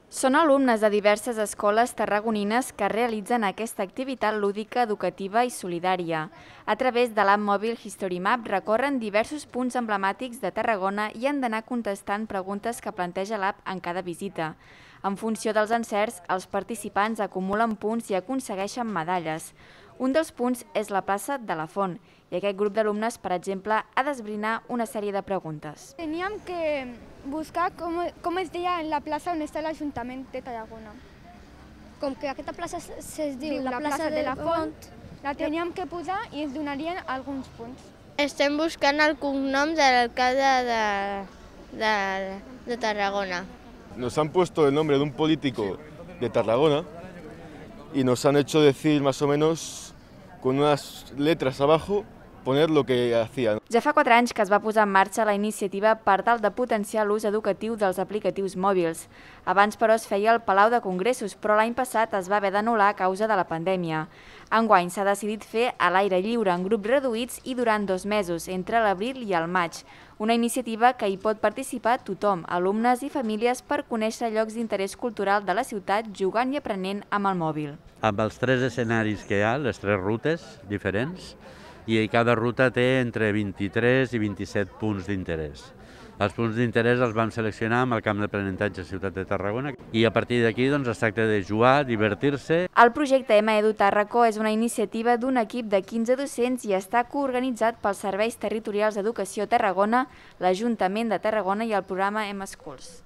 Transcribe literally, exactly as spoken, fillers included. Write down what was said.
Són alumnes de diverses escoles tarragonines que realitzen aquesta activitat lúdica, educativa i solidària. A través de l'app mòbil History Map recorren diversos punts emblemàtics de Tarragona i han d'anar contestant preguntes que planteja l'app en cada visita. En funció dels encerts, els participants acumulen punts i aconsegueixen medalles. Un dels punts és la plaça de la Font, i aquest grup d'alumnes, per exemple, ha d'esbrinar una sèrie de preguntes. Teníem que buscar com, com es deia en la plaça on està l'Ajuntament de Tarragona. Com que aquesta plaça es diu La plaça de la Font, la teníem que posar i ens donarien alguns punts. Estem buscant el cognom de l'alcalde de, de, de Tarragona. Nos han puesto el nombre de un político de Tarragona y nos han hecho decir más o menos con unas letras abajo poner lo que hacían. Ja fa quatre anys que es va posar en marxa la iniciativa per tal de potenciar l'ús educatiu dels aplicatius mòbils. Abans, però, es feia al Palau de Congressos, però l'any passat es va haver d'anul·lar a causa de la pandèmia. Enguany s'ha decidit fer a l'aire lliure en grups reduïts i durant dos mesos, entre l'abril i el maig. Una iniciativa que hi pot participar tothom, alumnes i famílies, per conèixer llocs d'interès cultural de la ciutat jugant i aprenent amb el mòbil. Amb els tres escenaris que hi ha, les tres rutes diferents, i cada ruta té entre vint-i-tres i vint-i-set punts d'interès. Els punts d'interès els vam seleccionar amb el camp d'aprenentatge Ciutat de Tarragona i a partir d'aquí doncs, es tracta de jugar, divertir-se. El projecte M-Edu Tarraco és una iniciativa d'un equip de quinze docents i està coorganitzat pels Serveis Territorials d'Educació Tarragona, l'Ajuntament de Tarragona i el programa M-Schools.